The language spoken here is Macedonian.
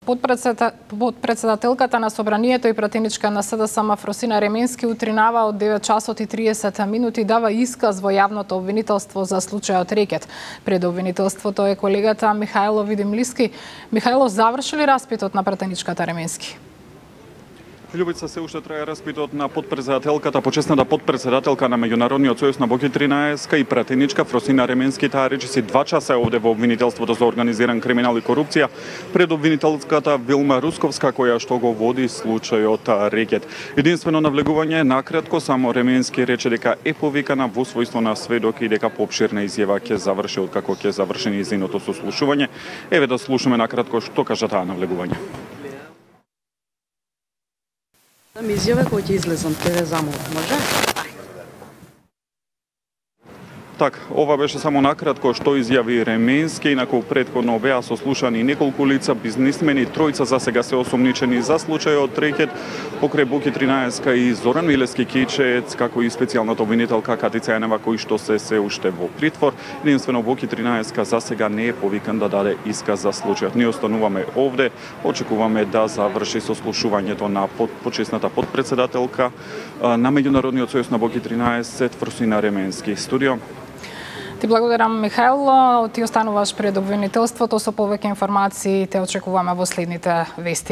Подпредседателката на Собранието и пратеничка на СДСМ Фросина Ременски утринава од 9 часот и 30 минути дава исказ во јавното обвинителство за случајот Рекет. Пред обвинителството е колегата Михајло Видимлиски. Михајло, заврши ли распитот на пратеничката Ременски? Љубица, се уште трае распитот на подпредседателката, почесната подпредседателка на Меѓународниот сојуз на Боки 13 и пратеничка Фросина Ременски. Таа речиси 2 часа овде во обвинителството за организиран криминал и корупција пред обвинителката Вилма Русковска, која што го води случајот Рекет. Единствено навлегување накратко, само Ременски рече дека е повикана во својство на сведок и дека поопширна изјава ќе заврши откако ќе заврши нејзиното сослушување. Еве да слушаме накратко што кажа таа навлегување. Изјава кој ќе излезам, ќе замолам, може? Так, ова беше само накратко што изјави Ременски, инаку претходно беа сослушани неколку лица, бизнисмени, тројца за сега се осомничени за случајот Рекет, покрај Боки 13 и Зоран Милевски Кичец, како и специјалната обвинителка Катица Јанева, кои што се уште во притвор. Единствено Боки 13 за сега не е повикан да даде исказ за случајот. Ние остануваме овде, очекуваме да заврши сослушувањето на почесната подпредседателка на Меѓународниот сојуз на Боки 13 Фросина Ременски. Студио. Ти благодарам, Михајло. Ти остануваш пред обвинителството со повеќе информации. Те очекуваме во следните вести.